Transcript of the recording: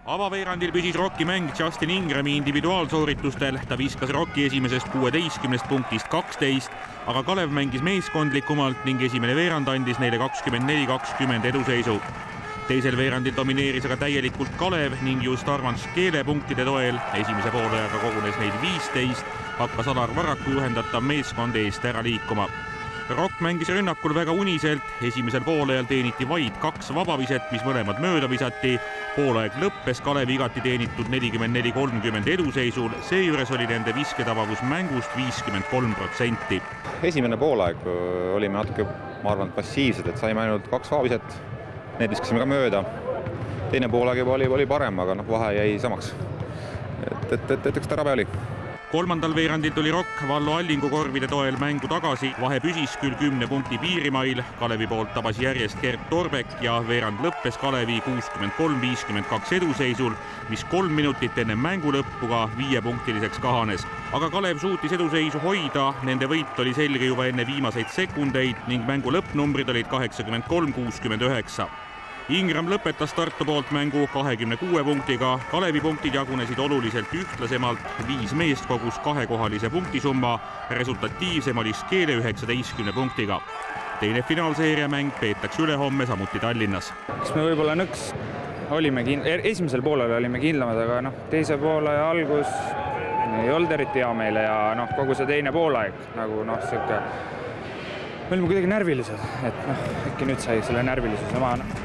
Avaveerandil püsis Rocki mäng Justin Ingrami individuaalsooritustel, ta viskas Rocki esimesest 16 punktist 12, aga Kalev mängis meeskondlikumalt ning esimene veerand andis neile 24-20 eduseisu. Teisel veerandil domineeris aga täielikult Kalev ning just Armand Škele punktide toel, esimese poolajaga kogunes neid 15, hakkas Alar Varraku juhendatav meeskond eest ära liikuma. Rock mängis rünnakul väga uniselt, esimesel poolajal teeniti vaid 2 vabaviset, mis mõlemad mööda visati. Poolaeg lõppes Kalevi igati teenitud 44-30 eduseisul, seejuures oli nende visketabavus mängust 53%. Esimene poolaeg olime natuke, ma arvan, passiivsed, et saime ainult 2 vabaviset, need viskasime ka mööda. Teine poolaeg oli parem, aga vahe jäi samaks. Et üks terabe oli. Kolmandal veerandil tuli Rock Vallo Allingu korvide toel mängu tagasi, vahe püsis küll 10 punkti piirimail, Kalevi poolt tabas järjest Gert Torbek ja veerand lõppes Kalevi 63-52 eduseisul, mis 3 minutit enne mängu lõppu ka 5-punktiliseks kahanes. Aga Kalev suutis eduseisu hoida, nende võit oli selge juba enne viimaseid sekundeid ning mängu lõppnumbrid olid 83-69. Ingram lõpetas Tartu poolt mängu 26 punktiga, Kalevi punktid jagunesid oluliselt ühtlasemalt, 5 meest kogus 2-kohalise punktisumma, resultatiivsem oli Škele 19 punktiga. Teine finaalseeria mäng peetakse ülehomme samuti Tallinnas. Kas me võib-olla nõks olime esimesel poolel olime kindlamad, aga teise poole algus ei olnud eriti hea meile ja kogu see teine poolaeg siuke. Me olime kuidagi närvilised, et äkki nüüd sai selle närvilisuse maha.